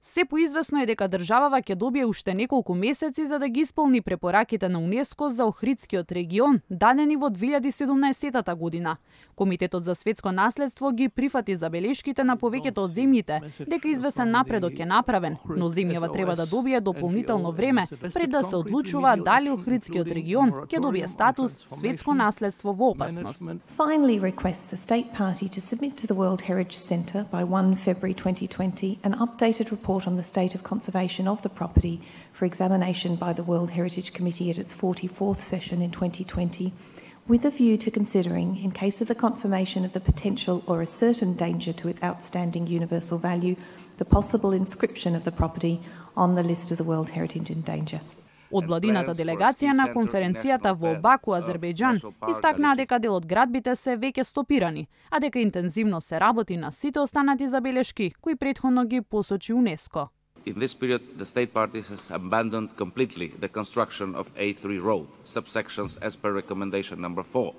Се поизвестно е дека државава ќе добие уште неколку месеци за да ги исполни препораките на УНЕСКО за Охридскиот регион, дадени во 2017 година. Комитетот за светско наследство ги прифати забелешките на повеќето од земјите, дека извесен напредок е направен, но земјава треба да добие дополнително време пред да се одлучува дали Охридскиот регион ќе добие статус светско наследство во опасност. Finally requests the state party to submit to the World Heritage Centre by 1 February 2020 an updated report on the state of conservation of the property for examination by the World Heritage Committee at its 44th session in 2020, with a view to considering, in case of the confirmation of the potential or a certain danger to its outstanding universal value, the possible inscription of the property on the list of the World Heritage in danger. Од владината делегација на конференцијата во Баку, Азербејџан, истакнаа дека дел од градбите се веќе стопирани, а дека интензивно се работи на сите останати забелешки кои претходно ги посочи УНЕСКО. In this period, the state party has abandoned completely the construction of A3 road, subsections as per recommendation number 4,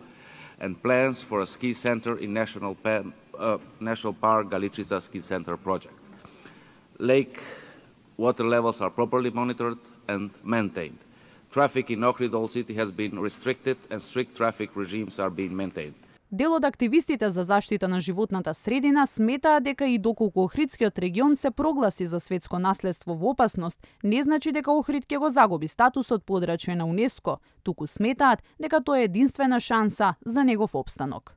and plans for a ski center in National Park Galičica Ski Center project. Lake water levels are properly monitored and maintained. Traffic in Ohrid Old City has been restricted and strict traffic regimes are being maintained. Дел од активистите за заштита на животната средина сметаа дека и доколку Охридскиот регион се прогласи за светско наследство во опасност, не значи дека Охрид ќе го загуби статусот подрачје на УНЕСКО, туку сметаат дека тоа е единствена шанса за негов опстанок.